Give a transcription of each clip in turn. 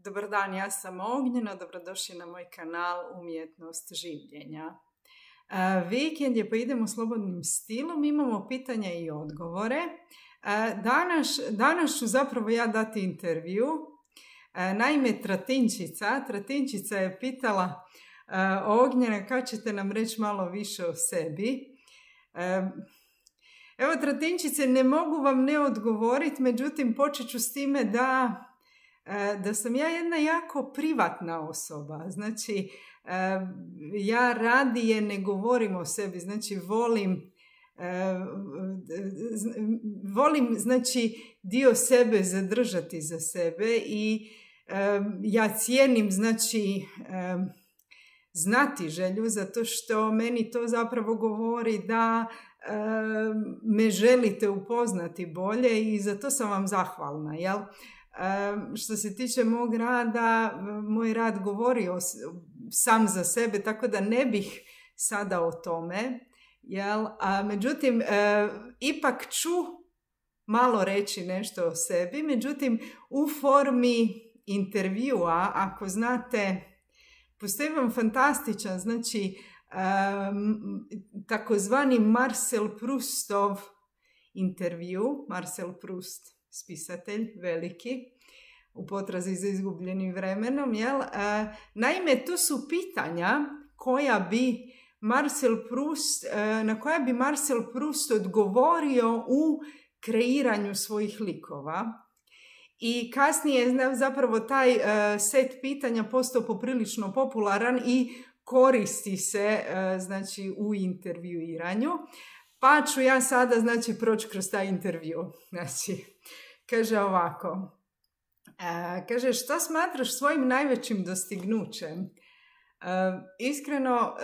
Dobar dan, ja sam Ognjena, dobrodošli na moj kanal Umjetnost življenja. Vikend je, pa idemo slobodnim stilom, imamo pitanja i odgovore. Danas ću zapravo ja dati intervju. Naime, Tratinčica je pitala Ognjena, kad ćete nam reći malo više o sebi. Evo, Tratinčice, ne mogu vam ne odgovoriti, međutim počet ću s time da sam ja jedna jako privatna osoba. Znači, ja radije ne govorim o sebi, znači volim znači dio sebe zadržati za sebe i ja cijenim znači znati želju, zato što meni to zapravo govori da me želite upoznati bolje i za to sam vam zahvalna, jel? Što se tiče mog rada, moj rad govori sam za sebe, tako da ne bih sada o tome, jel? Međutim, ipak ću malo reći nešto o sebi, međutim, u formi intervjua, ako znate, postoji vam fantastičan, znači, takozvani Marcel Proustov intervju, Marcel Proust, spisatelj veliki, u potrazi za izgubljenim vremenom, jel? Naime, to su pitanja na koja bi Marcel Proust odgovorio u kreiranju svojih likova. I kasnije je zapravo taj set pitanja postao poprilično popularan i koristi se znači, u intervjuiranju. Pa ću ja sada, znači, proći kroz taj intervju. Znači, kaže ovako. Kaže, što smatraš svojim najvećim dostignućem? Iskreno,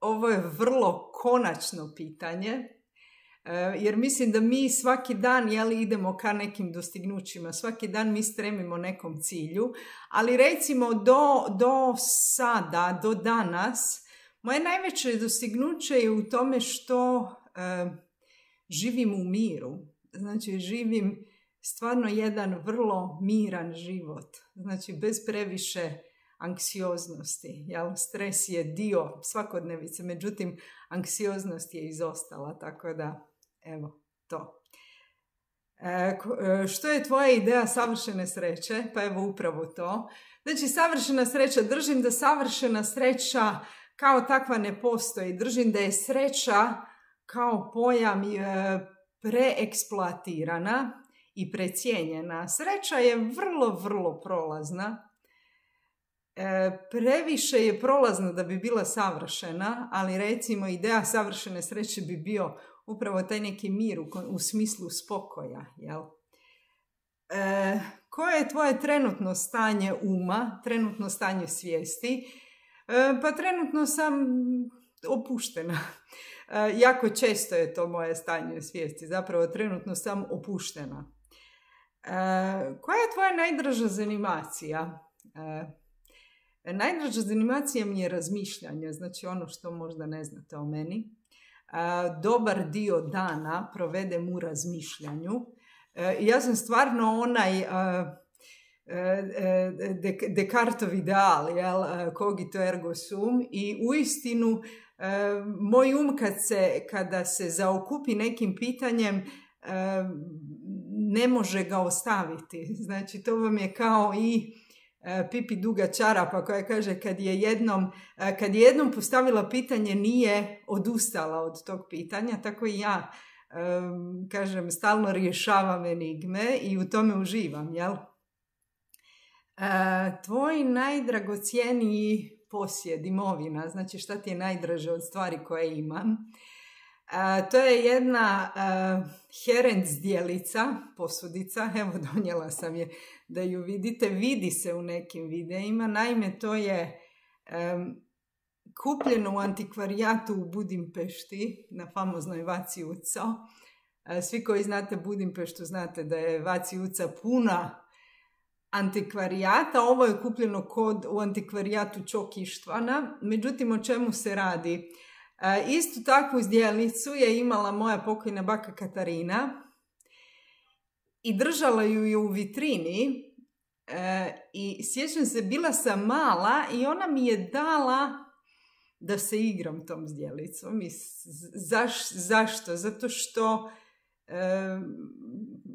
ovo je vrlo konačno pitanje, jer mislim da mi svaki dan idemo ka nekim dostignućima, svaki dan mi stremimo nekom cilju, ali recimo do sada, do danas, moje najveće dostignuće je u tome što živim u miru. Znači, živim stvarno jedan vrlo miran život. Znači, bez previše anksioznosti. Jel? Stres je dio svakodnevice, međutim, anksioznost je izostala, tako da, evo, to. Što je tvoja ideja savršene sreće? Pa evo, upravo to. Znači, savršena sreća, držim da savršena sreća kao takva ne postoji. Držim da je sreća kao pojam preeksploatirana i precijenjena. Sreća je vrlo, vrlo prolazna. Previše je prolazna da bi bila savršena, ali recimo ideja savršene sreće bi bio upravo taj neki mir u smislu spokoja. Jel? Koje je tvoje trenutno stanje uma, trenutno stanje svijesti? Pa trenutno sam opuštena. Jako često je to moje stanje svijesti. Zapravo trenutno sam opuštena. Koja je tvoja najdraža zanimacija? Najdraža zanimacija mi je razmišljanje, znači ono što možda ne znate o meni. Dobar dio dana provedem u razmišljanju. Ja sam stvarno onaj Descartov ideal, jel? Cogito ergo sum, i uistinu moj um kada se zaokupi nekim pitanjem ne može ga ostaviti. Znači, to vam je kao i Pipi duga čarapa koja kaže kad je jednom postavila pitanje nije odustala od tog pitanja, tako i ja kažem stalno rješavam enigme i u tome uživam, jel? Tvoj najdragocjeniji posjed, imovina, znači šta ti je najdraže od stvari koje imam? To je jedna Herend zdjelica, posudica, evo donijela sam je da ju vidite, vidi se u nekim videima. Naime, to je kupljeno u antikvarijatu u Budimpešti, na famoznoj Vaci Uco. Svi koji znate Budimpeštu znate da je Vaci Uca puna antikvarijata. Ovo je kupljeno u antikvarijatu Čok Ištvana. Međutim, o čemu se radi? Istu takvu zdjelicu je imala moja pokojna baka Katarina i držala ju je u vitrini I sjećam se, bila sam mala i ona mi je dala da se igram tom zdjelicom. I zašto? Zato što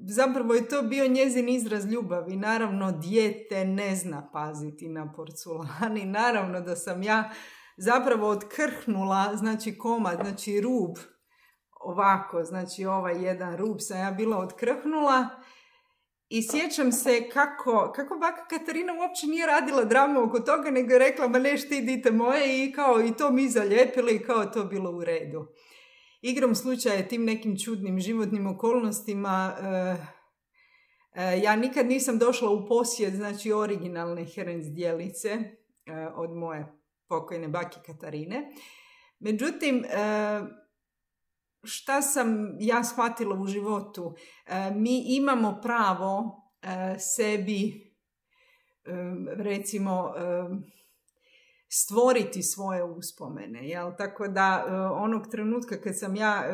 zapravo je to bio njezin izraz ljubavi. Naravno, dijete ne zna paziti na porculan i naravno da sam ja zapravo otkrhnula, znači komad, znači rub, ovako, znači ovaj jedan rub sam ja bila otkrhnula i sjećam se kako baka Katarina uopće nije radila dramu oko toga, nego je rekla, ma neš ti dite moje, i kao i to mi zalijepili i kao to bilo u redu. Igrom slučaja tim nekim čudnim životnim okolnostima ja nikad nisam došla u posjed, znači originalne Herens zdjelice od moje pokojne bake Katarine. Međutim, šta sam ja shvatila u životu? Mi imamo pravo sebi, recimo, stvoriti svoje uspomene. Jel? Tako da onog trenutka kad sam ja,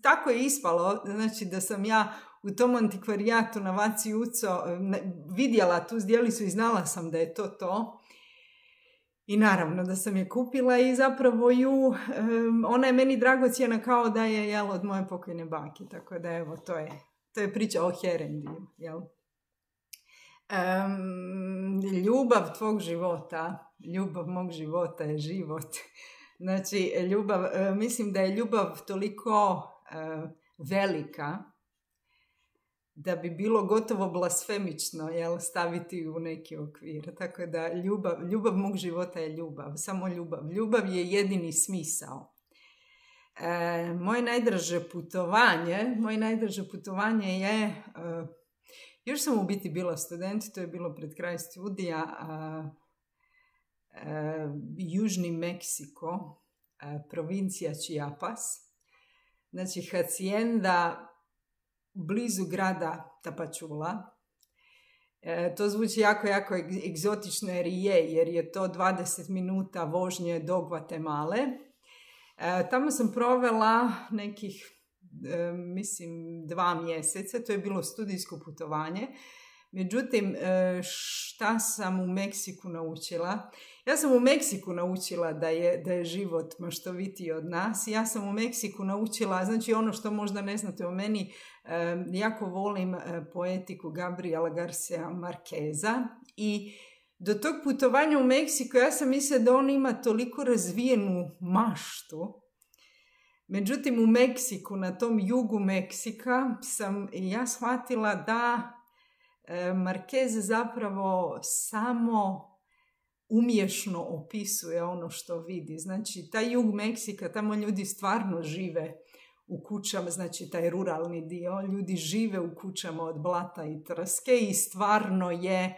tako je ispalo, znači da sam ja u tom antikvarijatu na Vaci Uco vidjela tu zdjelicu i znala sam da je to. I naravno da sam je kupila i zapravo ona je meni dragocjena kao da je od moje pokojne bake. Tako da evo, to je priča o Herendiju. Jel? Ljubav tvog života, ljubav mog života je život. Znači, mislim da je ljubav toliko velika da bi bilo gotovo blasfemično staviti u neki okvir. Tako da ljubav mog života je ljubav, samo ljubav. Ljubav je jedini smisao. Moje najdraže putovanje je, još sam u biti bila student, to je bilo pred kraj studija, Južni Meksiko, provincija Chiapas, znači hacienda blizu grada Tapachula. To zvuči jako egzotično jer je to 20 minuta vožnje do Gvatemale. Tamo sam provela nekih, mislim, 2 mjeseca, to je bilo studijsko putovanje. Međutim, šta sam u Meksiku naučila? Ja sam u Meksiku naučila da je život maštovitiji od nas. Ja sam u Meksiku naučila, znači ono što možda ne znate o meni, jako volim poetiku Gabriela Garcia Marqueza i do tog putovanja u Meksiku ja sam mislila da on ima toliko razvijenu maštu. Međutim, u Meksiku, na tom jugu Meksika, sam ja shvatila da Marquez zapravo samo umješno opisuje ono što vidi. Znači, taj jug Meksika, tamo ljudi stvarno žive u kućama, znači taj ruralni dio, ljudi žive u kućama od blata i trske i stvarno je,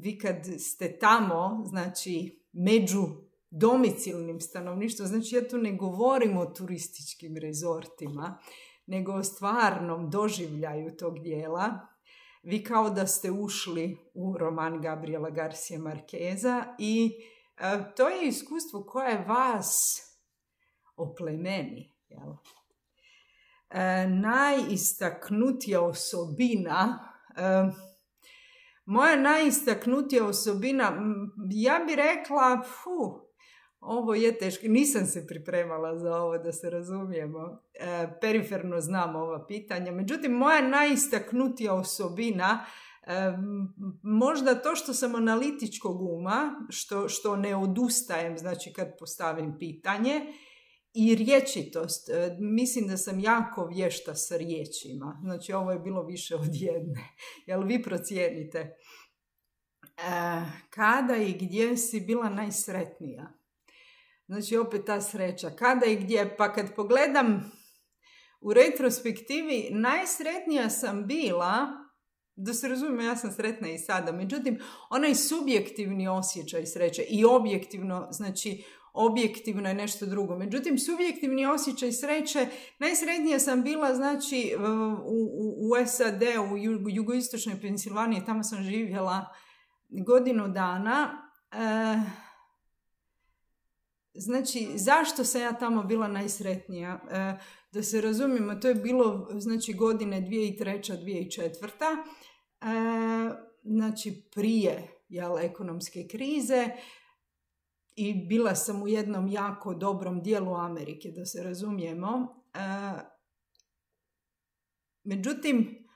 vi kad ste tamo, znači među domicilnim stanovništvom, znači ja tu ne govorim o turističkim rezortima, nego o stvarnom doživljaju tog dijela. Vi kao da ste ušli u roman Gabriela Garcia Marqueza i to je iskustvo koje vas oplemeni. Jel? Najistaknutija osobina, moja najistaknutija osobina, ja bih rekla, ovo je teško, nisam se pripremala za ovo, da se razumijemo, periferno znam ova pitanja, međutim moja najistaknutija osobina, možda to što sam analitičkog uma, što ne odustajem, znači kad postavim pitanje, i rječitost. Mislim da sam jako vješta sa riječima, znači ovo je bilo više od jedne, jel vi procijenite? Kada i gdje si bila najsretnija? Znači opet ta sreća. Kada i gdje? Pa kad pogledam u retrospektivi, najsretnija sam bila, da se razumije, ja sam sretna i sada, međutim, onaj subjektivni osjećaj sreće i objektivno, znači objektivno je nešto drugo. Međutim, subjektivni osjećaj sreće, najsretnija sam bila, znači, u SAD, u jugoistočnoj Pensilvaniji, tamo sam živjela godinu dana. Znači, zašto sam ja tamo bila najsretnija? Da se razumijemo, to je bilo, znači, godine 2003. 2004. znači prije ekonomske krize i bila sam u jednom jako dobrom dijelu Amerike, da se razumijemo. Međutim,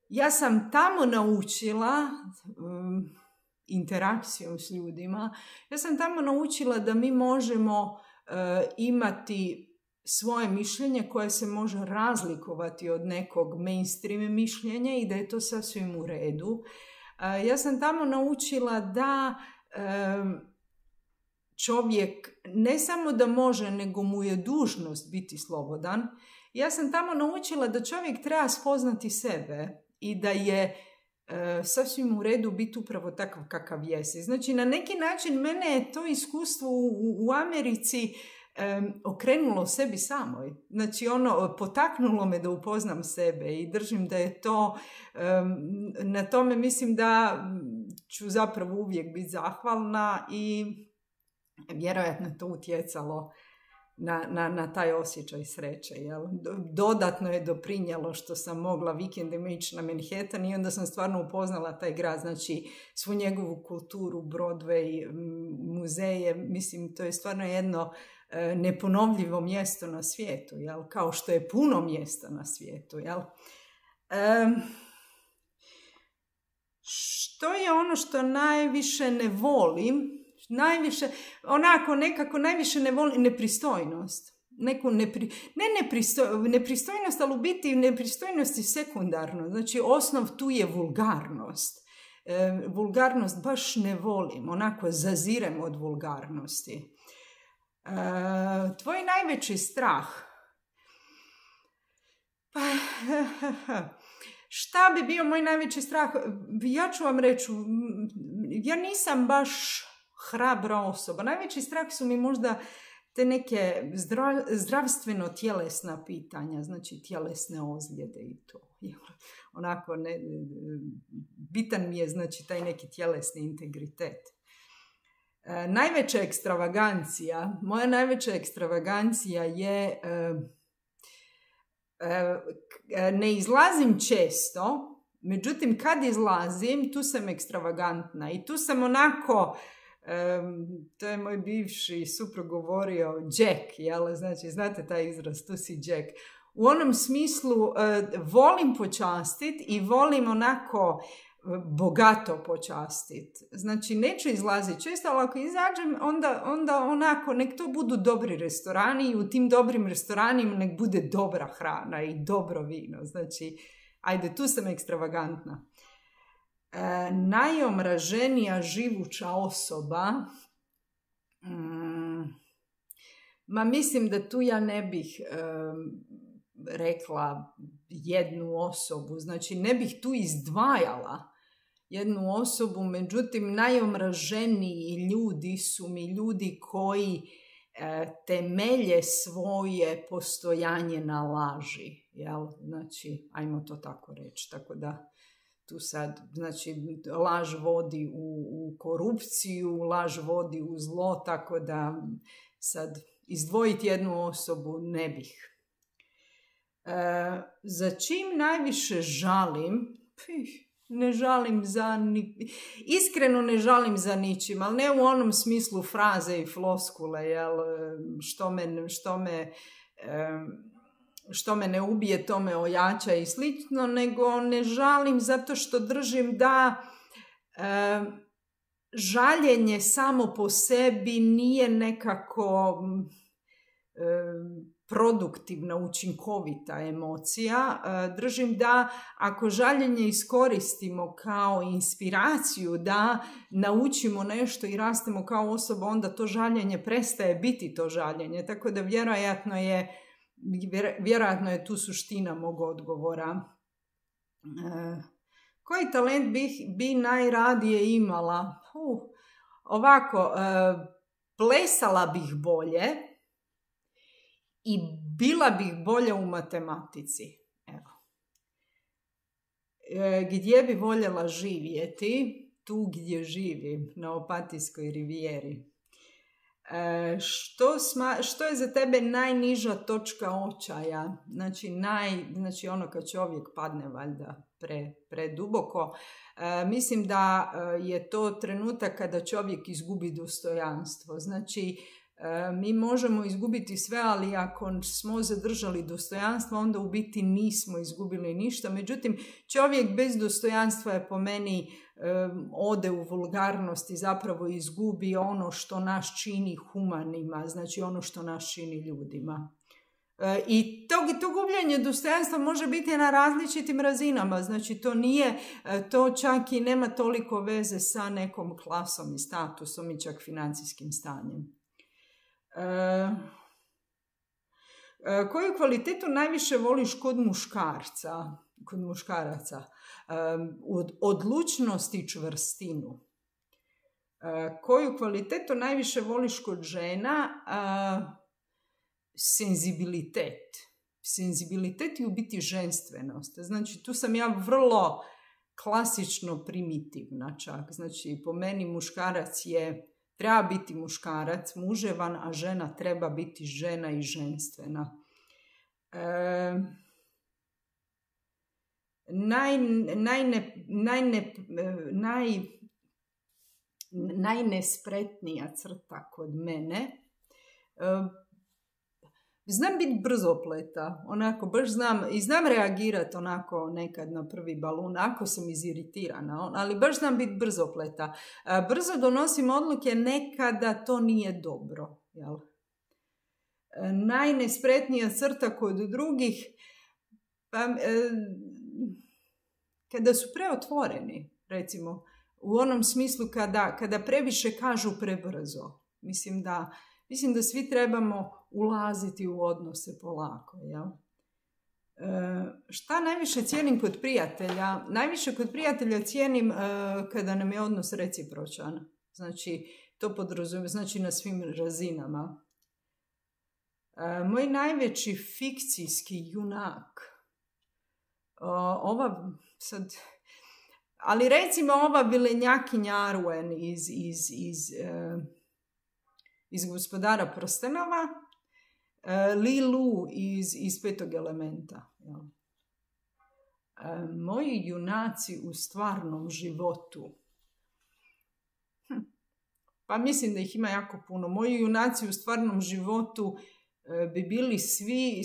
ja sam tamo naučila interakcijom s ljudima, ja sam tamo naučila da mi možemo imati svoje mišljenje koje se može razlikovati od nekog mainstream mišljenja i da je to sasvim u redu. Ja sam tamo naučila da čovjek ne samo da može, nego mu je dužnost biti slobodan. Ja sam tamo naučila da čovjek treba spoznati sebe i da je sasvim u redu biti upravo takav kakav jesi. Znači, na neki način mene je to iskustvo u Americi okrenulo sebi samoj. Znači, potaknulo me da upoznam sebe i držim da je to, na tome mislim da ću zapravo uvijek biti zahvalna i vjerojatno to utjecalo na taj osjećaj sreće. Jel? Dodatno je doprinijelo što sam mogla vikendima ići na Manhattan i onda sam stvarno upoznala taj grad, znači svu njegovu kulturu, Broadway, muzeje, mislim to je stvarno jedno neponovljivo mjesto na svijetu, jel? Kao što je puno mjesta na svijetu. Jel? Što je ono što najviše ne volim? Najviše ne volim nepristojnost. Nepristojnost, ali u biti nepristojnost je sekundarno. Znači, osnov tu je vulgarnost. Vulgarnost baš ne volim. Zazirem od vulgarnosti. Tvoj najveći strah? Šta bi bio moj najveći strah? Ja ću vam reći, ja nisam baš hrabra osoba. Najveći strah su mi možda te neke zdravstveno-tjelesna pitanja, znači tjelesne ozljede i to. Bitan mi je znači taj neki tjelesni integritet. Moja najveća ekstravagancija je ne izlazim često, međutim kad izlazim tu sam ekstravagantna i tu sam to je moj bivši suprug govorio Jack, jel? Znači znate taj izraz, tu si Jack. U onom smislu volim počastiti i volim bogato počastiti. Znači neću izlaziti često, ali ako izađem onda nek to budu dobri restorani i u tim dobrim restoranima nek bude dobra hrana i dobro vino. Znači, ajde, tu sam ekstravagantna. Najomraženija živuća osoba, mislim da tu ja ne bih rekla jednu osobu, znači ne bih tu izdvajala jednu osobu, međutim najomraženiji ljudi su mi ljudi koji temelje svoje postojanje na laži, jel? Znači, ajmo to tako reći, tako da tu sad, znači, laž vodi u korupciju, laž vodi u zlo, tako da sad izdvojiti jednu osobu ne bih. Za čim najviše žalim? Iskreno ne žalim za ničim, ali ne u onom smislu fraze i floskule, jel? Što me ne ubije, to me ojača i slično, nego ne žalim zato što držim da žaljenje samo po sebi nije nekako produktivna, učinkovita emocija. Držim da ako žaljenje iskoristimo kao inspiraciju da naučimo nešto i rastemo kao osoba, onda to žaljenje prestaje biti to žaljenje. Tako da vjerojatno je tu suština mog odgovora. Koji talent bi najradije imala? Plesala bih bolje i bila bih bolja u matematici. Evo. Gdje bi voljela živjeti? Tu gdje živim, na Opatijskoj rivijeri. Što je za tebe najniža točka očaja? Znači ono kad čovjek padne, valjda, preduboko. Mislim da je to trenutak kada čovjek izgubi dostojanstvo. Znači, mi možemo izgubiti sve, ali ako smo zadržali dostojanstvo, onda u biti nismo izgubili ništa. Međutim, čovjek bez dostojanstva je po meni ode u vulgarnost i zapravo izgubi ono što nas čini humanima, znači ono što nas čini ljudima. I to gubljenje dostojanstva može biti na različitim razinama, znači to čak i nema toliko veze sa nekom klasom i statusom i čak financijskim stanjem. Koju kvalitetu najviše voliš kod muškaraca? Odlučnost i čvrstinu. Koju kvalitetu najviše voliš kod žena? Senzibilitet i u biti ženstvenost. Znači, tu sam ja vrlo klasično primitivna čak. Znači, po meni muškarac treba biti muškarac, muževan, a žena treba biti žena i ženstvena. Najnespretnija crta kod mene. Znam biti brzopleta, onako baš znam reagirati onako nekad na prvi balun, ako sam iziritirana, ali baš znam biti brzopleta. Brzo donosim odluke, nekada to nije dobro. Jel? Najnespretnija crta kod drugih, kada su preotvoreni, recimo, u onom smislu kada previše kažu prebrzo. Mislim da svi trebamo ulaziti u odnose polako. Jel? Šta najviše cijenim kod prijatelja? Najviše kod prijatelja cijenim kada nam je odnos recipročan. Znači, to podrazumijeva, znači na svim razinama. Moj najveći fikcijski junak. Ali recimo ova vilenjakinja Arwen iz Gospodara prstenova, Lilu iz Petog elementa. Ja. Moji junaci u stvarnom životu. Pa mislim da ih ima jako puno. Moji junaci u stvarnom životu bi bili svi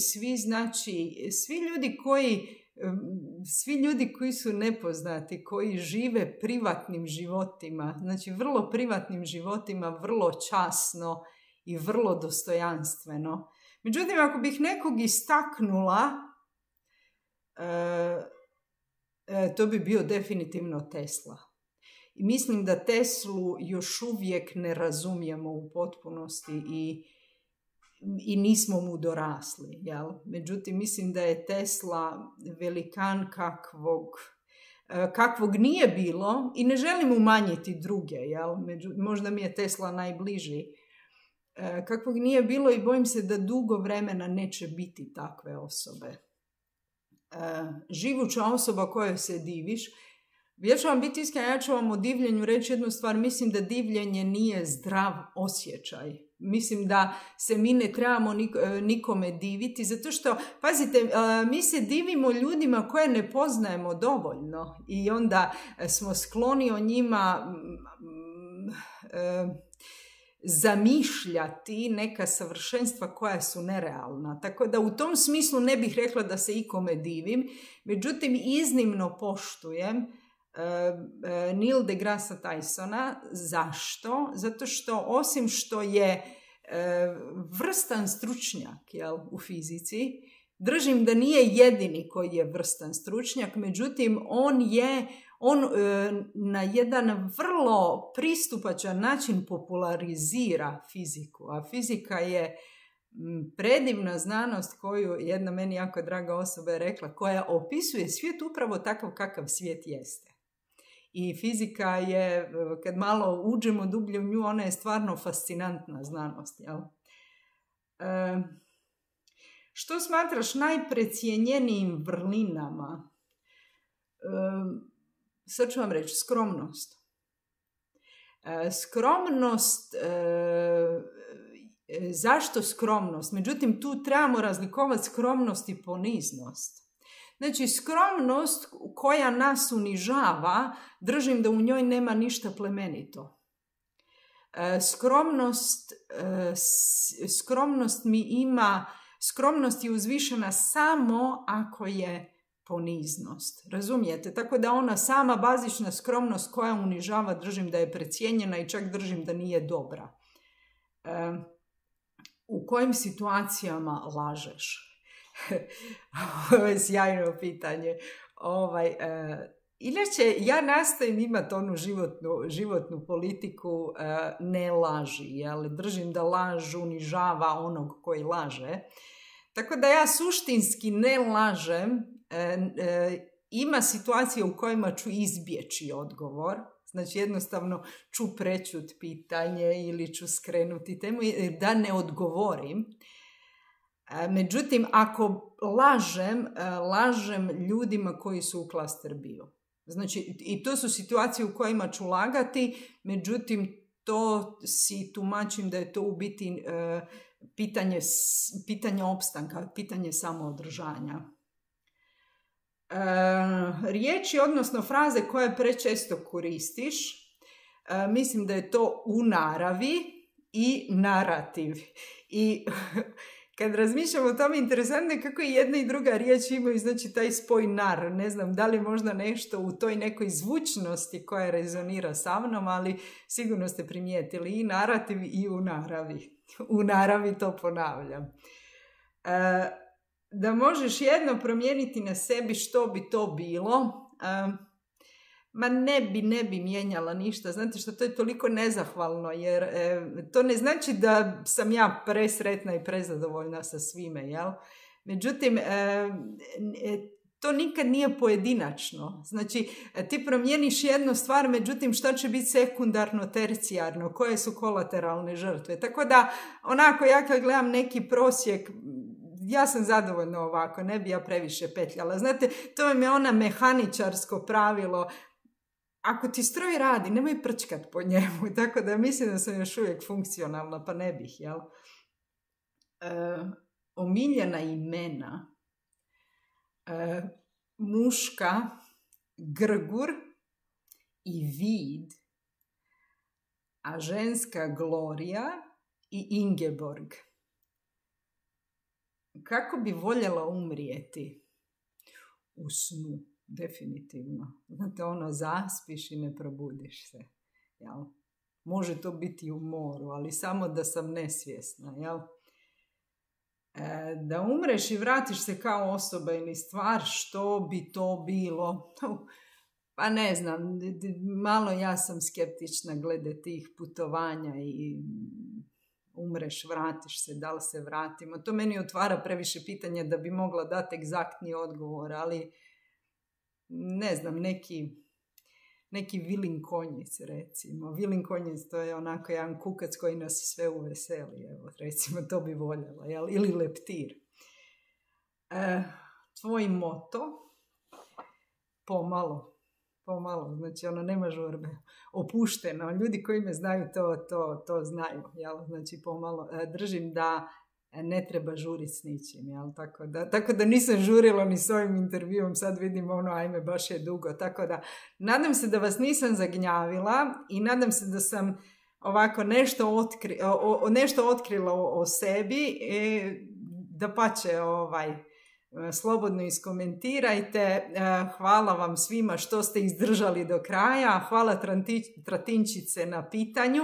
ljudi koji su nepoznati, koji žive privatnim životima, znači vrlo privatnim životima, vrlo časno i vrlo dostojanstveno. Međutim, ako bih nekog istaknula, to bi bio definitivno Tesla. I mislim da Teslu još uvijek ne razumijemo u potpunosti i nismo mu dorasli. Jel? Međutim, mislim da je Tesla velikan kakvog nije bilo i ne želim umanjiti druge. Jel? Možda mi je Tesla najbliži. Kakvog nije bilo i bojim se da dugo vremena neće biti takve osobe. Živuća osoba kojoj se diviš. Ja ću vam biti iskrena, ja ću vam o divljenju reći jednu stvar. Mislim da divljenje nije zdrav osjećaj. Mislim da se mi ne trebamo nikome diviti, zato što, pazite, mi se divimo ljudima koje ne poznajemo dovoljno i onda smo skloni o njima zamišljati neka savršenstva koja su nerealna. Tako da u tom smislu ne bih rekla da se ikome divim, međutim iznimno poštujem Neil deGrasse Tysona. Zašto? Zato što osim što je vrstan stručnjak, jel, u fizici, držim da nije jedini koji je vrstan stručnjak, međutim on na jedan vrlo pristupačan način popularizira fiziku, a fizika je predivna znanost koju jedna meni jako draga osoba je rekla, koja opisuje svijet upravo takav kakav svijet jeste. I fizika je, kad malo uđemo dublje u nju, ona je stvarno fascinantna znanost. Jel? Što smatraš najprecijenjenijim vrlinama? Sad ću vam reći, skromnost. Skromnost, zašto skromnost? Međutim, tu trebamo razlikovati skromnost i poniznost. Znači, skromnost koja nas unižava, držim da u njoj nema ništa plemenito. Skromnost je uzvišena samo ako je poniznost. Razumijete? Tako da ona sama bazična skromnost koja unižava, držim da je precijenjena i čak držim da nije dobra. U kojim situacijama lažeš? Ovo je sjajno pitanje. Inače, ja nastojim imati onu životnu politiku ne laži, jel? Držim da laž unižava onog koji laže. Tako da ja suštinski ne lažem. Ima situacije u kojima ću izbjeći odgovor. Znači jednostavno ću prečuti pitanje ili ću skrenuti temu da ne odgovorim. Međutim, ako lažem ljudima koji su u klaster bio. Znači, i to su situacije u kojima ću lagati, međutim, to si tumačim da je to u biti pitanje opstanka, pitanje samoodržanja. Riječi, odnosno fraze koje prečesto koristiš, mislim da je to u naravi i narativ. I kad razmišljamo o tome, interesantno je kako i jedna i druga riječ imaju, znači taj spoj nar. Ne znam da li možda nešto u toj nekoj zvučnosti koja rezonira sa mnom, ali sigurno ste primijetili i narativ i u naravi. U naravi to ponavljam. Da možeš jedno promijeniti na sebi, što bi to bilo? Ma ne bi mijenjala ništa. Znate što, to je toliko nezahvalno, jer to ne znači da sam ja presretna i prezadovoljna sa svime, jel? Međutim, to nikad nije pojedinačno. Znači, ti promijeniš jednu stvar, međutim, šta će biti sekundarno, tercijarno, koje su kolateralne žrtve. Tako da, onako, ja kad gledam neki prosjek, ja sam zadovoljna ovako, ne bi ja previše petljala. Znate, to vam je ona mehaničarsko pravilo. Ako ti stroj radi, nemoj prčkat po njemu. Tako da mislim da sam još uvijek funkcionalna, pa ne bih, jel? Omiljena imena. Muška, Grgur i Vid, a ženska Gloria i Ingeborg. Kako bi voljela umrijeti? U snu, definitivno. Znate, zaspiš i ne probudiš se. Jel? Može to biti u moru, ali samo da sam nesvjesna. Jel? Da umreš i vratiš se kao osoba ili stvar, što bi to bilo? Pa ne znam, malo ja sam skeptična glede tih putovanja i umreš, vratiš se, da li se vratimo. To meni otvara previše pitanja da bi mogla dati egzaktni odgovor, ali ne znam, neki vilin konjic, recimo. Vilin konjic, to je onako jedan kukac koji nas sve uveseli, evo, recimo, to bi voljela, jel? Ili leptir. Tvoj moto? Pomalo, znači nema žurbe, opušteno. Ljudi koji me znaju to znaju, jel? Znači pomalo, držim da ne treba žuriti s ničim, jel? Tako da nisam žurila ni s ovim intervjuom, sad vidim ajme, baš je dugo, tako da nadam se da vas nisam zagnjavila i nadam se da sam ovako nešto otkrila o sebi, dapače, slobodno iskomentirajte. Hvala vam svima što ste izdržali do kraja. Hvala Tratinčice na pitanju.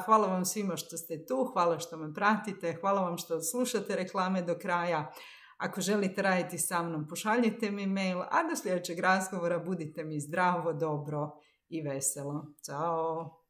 Hvala vam svima što ste tu. Hvala što me pratite. Hvala vam što slušate reklame do kraja. Ako želite raditi sa mnom, pošaljite mi mail. A do sljedećeg razgovora budite mi zdravo, dobro i veselo. Ćao!